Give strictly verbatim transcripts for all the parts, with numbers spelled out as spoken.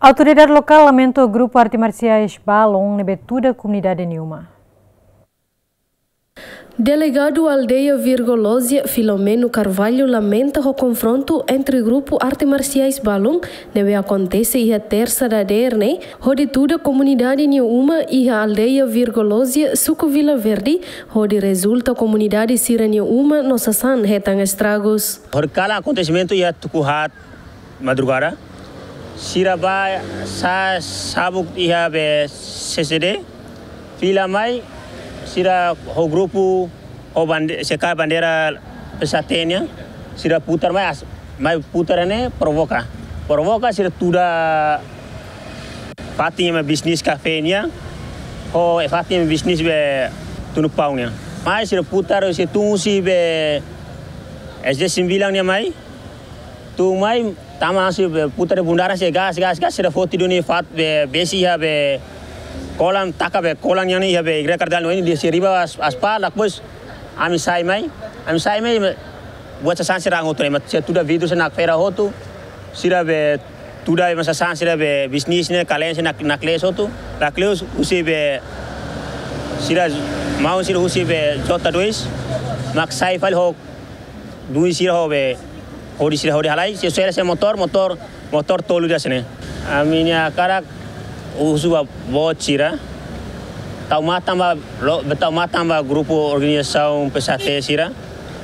Autoridade lokál lamenta grupu arte marsiais Balon ne'ebé tuda komunidade nia uma. Delegadu aldeia Virgolozia, Filomeno Carvalho, lamenta ho konfrontu entre grupu arte marsiais Balon ne'ebé akontese iha tersa dadeer ne'e, hodi tuda komunidade nia uma iha aldeia Virgolozia, suku Vila Verde, hodi rezulta komunidade sira-nia uma no sasán hetan estragus. Horikalan akontesimentu iha tuku haat madrugada. Sira ba sa sabuk iha be C C D. Fila mai, sira ho grupu, ho bande-, seka bandeira P S H T nian, sira putar mai, as-, mai putar ne'e provoka. Provoka sira tuda fatin ema bisnis kafé nian, ho fatin ema bisnis be tunu pau nian. Mai sira putar, sira tun husi be S D sembilan nian mai, tun mai, tama langsung be putar bundaran sira gas, gas, gas, sira foti duni fatin be, besi iha be kolan, taka be kolan nian iha be igreja katedrál nian, dehan sira riba as-, aspal, depois ami sai mai, ami sai mai, buat sasán sira hotu ne'e, mak sira tuda vidru sira nakfera hotu, sira be tuda ema sasán sira be bisnis ne'e, kalen sira nak-, naklees hotu, naklees husi be sira, maun sira husi be J dois, mak sai fali ho dui sira ho be, hodi sira hodi halai, sira sela sira motór, motór, motór tolu ida sene. Ami-nia hakarak husu ba boot sira, tau matan ba, lo-, be tau matan ba grupu organizasaun P S H T sira,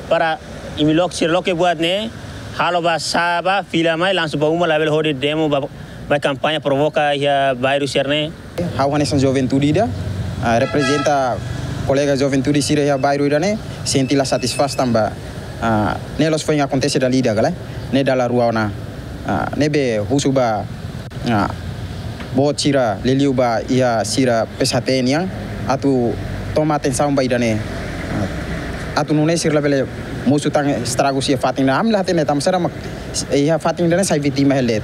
para imi loke sira loke buat ne'e, halo ba sá ba, fila mai, langsung ba uma, labele hodi demo ba, ba kampaña provoka iha bairru sira ne'e. Ha'u hanesan juventude ida, ah, reprezenta kolega juventude sira iha bairru ida-ne'e, sente la satisfás tanba, ah, ne'e la'ós foin akontese dala ida ka lae, ne'e dala rua ona. Ah, ne'ebé husu ba, ah, boot sira liuliu ba iha sira P S H T nian, atu toma atensaun ba ida-ne'e. Ah, atu nune'e sira labele mosu tan estragu iha fatin ne'e. Ami la hatene tanba sá mak iha fatin ida-ne'e sai vítima hela de'it.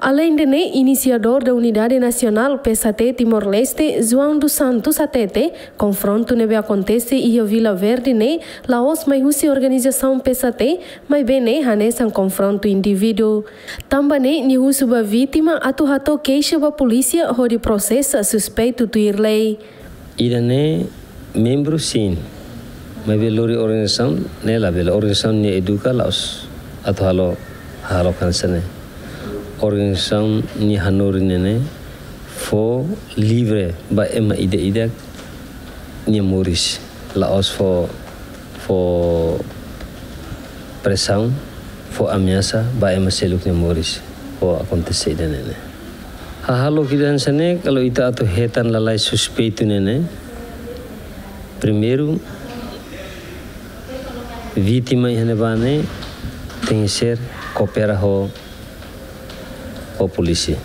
Aleinde ne'e, inisiadór da Unidade Nasionál P S H T Timor-Leste, João dos Santos, hatete, konfrontu ne'ebé akontese iha Vila Verde ne'e la'ós mai husi organizasaun P S H T, maibé ne'e hanesan konfrontu indivíduu. Tanba ne'e, nia husu ba vítima atu hato'o keixa ba polísia hodi prosesa suspeitu tuir lei. Ida-ne'e membru sin, maibé lori organizasaun ne'e labele, organizasaun nia eduka la'ós atu halo, halo hanesan ne'e. Organizasaun nia hanorin ne'e ne'e fó livre ba ema ida-idak nia moris, la'ós fó, fó presaun, fó ameasa ba ema seluk nia moris, fó akontese ida-ne'e ne'e. Hahalok ida hanesan ne'e, kalau ita atu hetan lalais suspeitu ne'e ne'e, primeiru, vítima iha ne'ebá ne'e tenke ser koopera ho, ho polísia.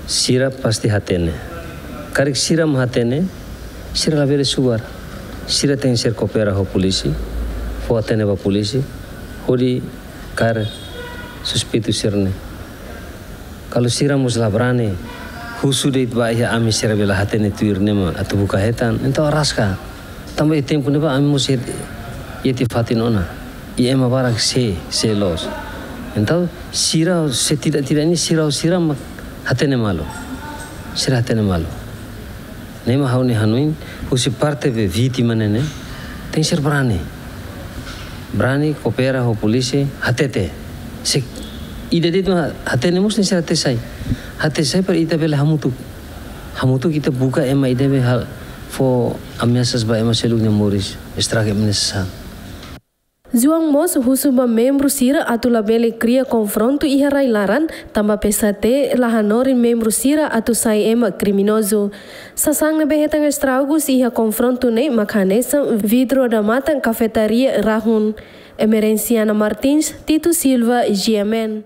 Sira pasti hatene. Karik sira mak hatene, sira labele subar. Sira tenke ser koopera ho polísia, fó hatene ba polísia, hodi kaer suspeitu sira-ne'e. Kalau sira mós la brani, husu de'it ba iha ami sira be la hatene tuir ne'e mak atu buka hetan, entaun araska. Tanba iha tempu ne'ebá ami mós iha, iha tiha fatin ona. I ema barak sé, sé loos. Entaun sira setidak-tidaknya sira, sira mak hatene malu. Sira hatene malu. Ne'e mak ha'u-nia hanoin, husi parte be vítima ne'e ne'e, tenke ser brani. Brani, koopera ho polísia, hatete. Se ida de'it mak hatene mós tenke ser hatete sai. Hatete sai para ita bele hamutuk. Hamutuk ita buka ema ida be hal fó ameasas ba ema seluk nia moris, estraga ema nia sasán. João mós husu ba membru sira atu labele kria konfrontu iha rai-laran, tanba P S H T la hanorin membru sira atu sai ema kriminozu. Sasán ne'ebé hetan estragus iha konfrontu ne'e mak hanesan vidru odamatan kafetaria Rahun. Emerenciana Martins, Tito Silva, G M N.